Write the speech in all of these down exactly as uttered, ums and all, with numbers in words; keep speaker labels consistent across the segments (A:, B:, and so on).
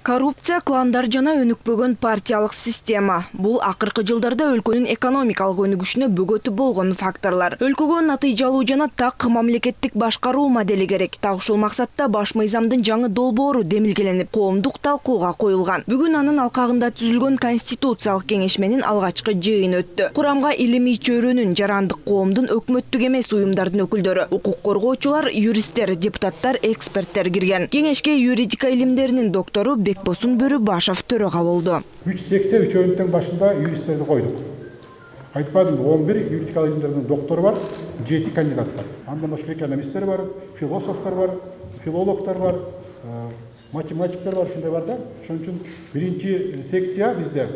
A: Коррупция, кландар жана өнүкпөгөн партиялык система. Бул акыркы жылдарда өлкөнүн экономикалык өнүгүшүнө бөгөтү болгон факторлор. Өлкөгө натыйжалуу жана так мамлекеттик башкаруу модели керек. Так ушул максатта баш мыйзамдын жаңы долбоору демилгеленип, коомдук талкууга коюлган. Бүгүн анын алкагында түзүлгөн Конституциялык кеңешменин алгачкы жыйыны өттү. Курамга илимий чөйрөнүн, жарандык коомдун, өкмөттүк эмес уюмдардын өкүлдөрү, укук коргоочулар, юристтер, депутаттар, эксперттер кирген. Кеңешке юридика илимдеринин доктору Бекбосун Бөрүбашев төрага болду.
B: үч жүз сексен үч өйүнтүн башында юристтерди койдук. Айтпадым, он бир юридика илимдеринин доктору бар, жети кандидат бар. Андан башка экономисттер бар, философтор бар, филологдор бар, математиктер бар, ушундай бар да. Ошон үчүн биринчи секция бизде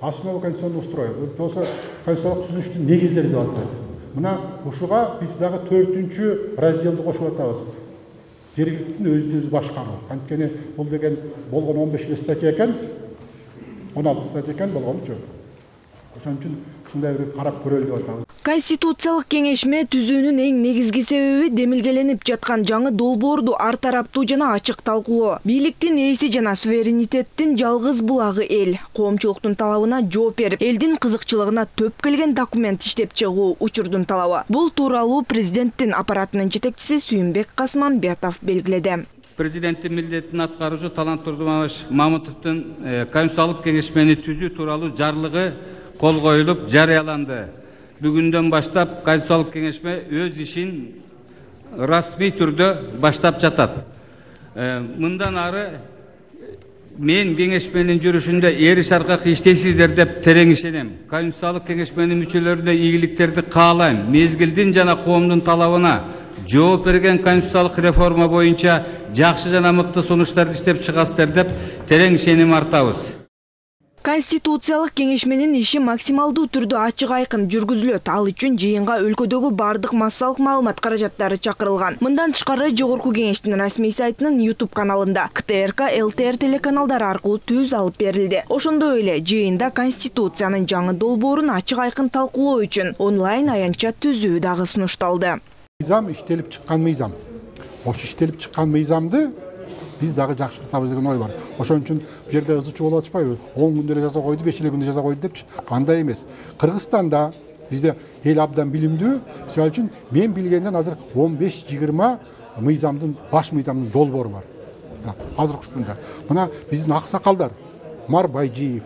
B: основа конституционного строя, болсо конституциялык түзүлүштүн негиздери деп аталат. Мына ушуга биз дагы төртүнчү разделди кошуп атабыз. Жергиликтүү өзүн өзү башкаруу. Анткени бул деген болгон он беш статья экен, он алты статья экен болгончу. Ошон үчүн ушундай бир карап көрөлү деп атабыз.
A: Конституциялык кеңешме түзүүнүн эң негизги себеби демилгеленип жаткан жаңы долбоорду ар тараптуу жана ачык талкуулоо. Бийликтин ээси жана суверенитеттин жалгыз булагы эл. Коомчулуктун талабына жооп берип, элдин кызыкчылыгына төп келген документ иштеп чыгуу учурдун талабы. Бул тууралуу президенттин аппаратынын жетекчиси Сүйүнбек Касманбетов белгиледи.
C: Президенттин милдетин аткаруучу Талант Турдумабаш Мамытовдун Конституциялык кеңешмени түзүү тууралуу жарлыгы кол коюлуп жарыяланды. Бүгүндөн баштап Конституциялык кеңешме өз ишин расмий түрдө баштап жатат. Мындан ары мен кеңешменин жүрүшүндө эриш аркак иштейсиздер деп терең ишенем. Конституциялык кеңешменин мүчөлөрүнө ийгиликтерди каалайм. Мезгилдин жана коомдун талабына жооп берген конституциялык реформа боюнча жакшы жана мыкты сунуштарды иштеп чыгасыздар деп терең ишеним артабыз.
A: Конституциялык кеңешменин иши максималдуу түрдө ачык айкын жүргүзүлөт. Ал үчүн жыйынга өлкөдөгү бардык массалык маалымат каражаттары чакырылган. Мындан тышкары Жогорку кеңештин расмий сайтынын YouTube каналында К Т Р К, Л Т Р телеканалдары аркылуу түз алып берилди. Ошондой эле жыйында Конституциянын жаңы долбоорун ачык айкын талкуулоо үчүн онлайн аянтча түзүү дагы сунушталды.
B: Мыйзам иштелип чыккан мыйзам. Ошо иштелип чыккан мыйзамды биз дагы жакшыртабыз деген ой бар. Ошон үчүн бу жерде ызычуу болуп атышпайбы? он күндө эле жаза койду, беш эле күндө жаза койду депчи. Андай эмес. Кыргызстанда бизде эл абдан билимдүү. Мисалы үчүн мен билгенден азыр он беш жыйырма мыйзамдын, баш мыйзамдын долбоору бар. Азыр ушунда. Мына биздин аксакалдар Мар Байжиев,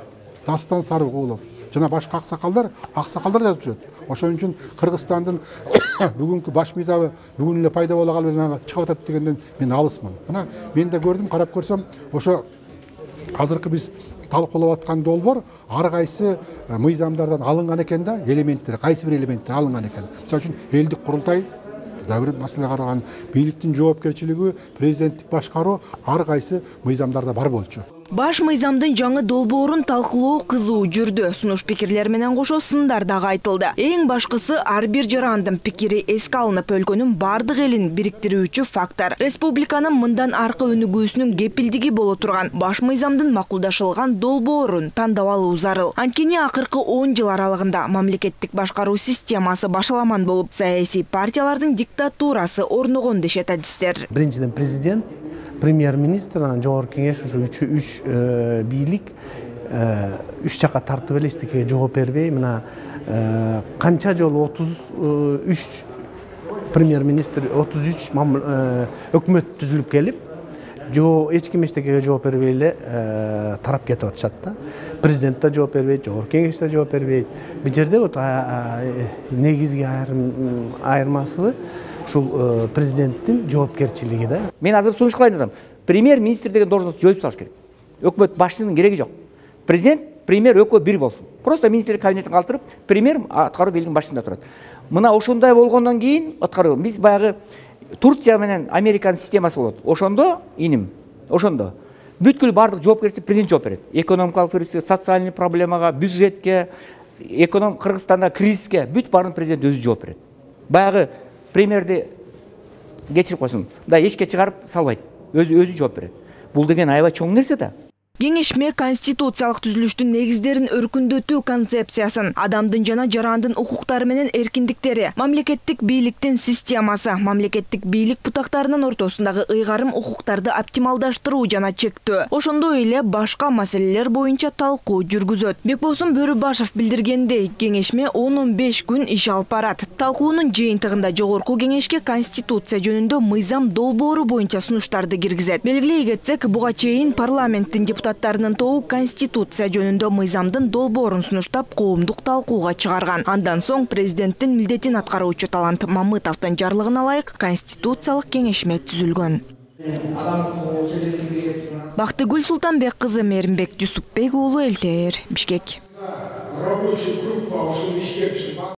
B: Дастан Сарыгулов жана башка аксакалдар, аксакалдар жазып жүрөт. Ошон үчүн Кыргызстандын бүгүнкү баш мыйзамы бүгүн эле пайда боло калып чыгып атат дегенден мен алысмын. Мына мен да көрдүм, карап көрсөм, ошо азыркы биз талкуулап аткан долбоор ар кайсы мыйзамдардан алынган экен да, элементтер, кайсы бир элементтер алынган экен. Мисалы үчүн элдик курултай да бир маселе каралган, бийликтин жоопкерчилиги, президенттик башкаруу ар кайсы мыйзамдарда бар болчу.
A: Баш мыйзамдын жаңы долбоорун талкуулоо кызуу жүрдү. Сунуш пикирлер менен кошо сындар дагы айтылды. Эң башкысы ар бир жарандын пикири эске алынып, өлкөнүн бардык элин бириктирүүчү фактор. Республиканын мындан аркы өнүгүүсүнүн кепилдиги боло турган баш мыйзамдын макулдашылган долбоорун тандап алуу зарыл. Анткени акыркы он жыл аралыгында мамлекеттик башкаруу системасы башаламан болуп, саясий партиялардын диктатурасы орногон дешет адистер.
D: Биринчиден президент, премьер-министр, анан жогорку кеңеш ушу үч үч бийлик үч жакка тартып эле эчтекеге жооп бербей, мына канча жолу отуз үч премьер-министр, отуз үч өкмөт түзүлүп келип, эч ким эчтекеге жооп бербей эле тарап кетип атышат да. Президент да жооп бербейт, жогорку кеңеш да жооп бербейт. Бул жерде вот негизги айырмасы ушул президенттин жоопкерчилиги да.
E: Мен азыр сунуш кылайын дедим. Премьер-министр деген должность жоюп салыш керек. Өкмөт башчынын кереги жок. Президент, премьер экөө бир болсун. Просто министрлик кабинетин калтырып, премьер аткаруу бийлигинин башында турат. Мына ошондой болгондон кийин аткаруу биз баягы Турция менен Американын системасы болот. Ошондо иним, ошондо бүткүл бардык жоопкерчилик президент жооп берет. Экономикалык кризиске, социальный проблемага, бюджетке, эконом Кыргызстанда кризиске бүт баарын президент өзү жооп берет. Баягы премьерди кечирип койсун, да эчке чыгарып салбайт. Өзү өзү жооп берет. Бул деген аябай чоң нерсе да.
A: Кеңешме конституциялык түзүлүштүн негиздерин өркүндөтүү концепциясын, адамдын жана жарандын укуктары менен эркиндиктери, мамлекеттик бийликтин системасы, мамлекеттик бийлик бутактарынын ортосундагы ыйгарым укуктарды оптималдаштыруу жана чектөө, ошондой эле башка маселелер боюнча талкуу жүргүзөт. Бекбосун Бөрүбашев билдиргендей, кеңешме он он беш күн иш алып барат. Талкуунун жыйынтыгында жогорку кеңешке конституция жөнүндө мыйзам долбоору боюнча сунуштарды киргизет. Белгилей кетсек, буга чейин парламенттин депутаттарынын тобу конституция жөнүндө мыйзамдын долбоорун сунуштап коомдук талкууга чыгарган. Андан соң президенттин милдетин аткаруучу Талант Мамытовдун жарлыгына ылайык конституциялык кеңешме түзүлгөн. Бактыгүл Султанбек кызы, Мээримбек Дюсупбек уулу, эл тэ эр, Бишкек. Рабочая группа ушул иштеп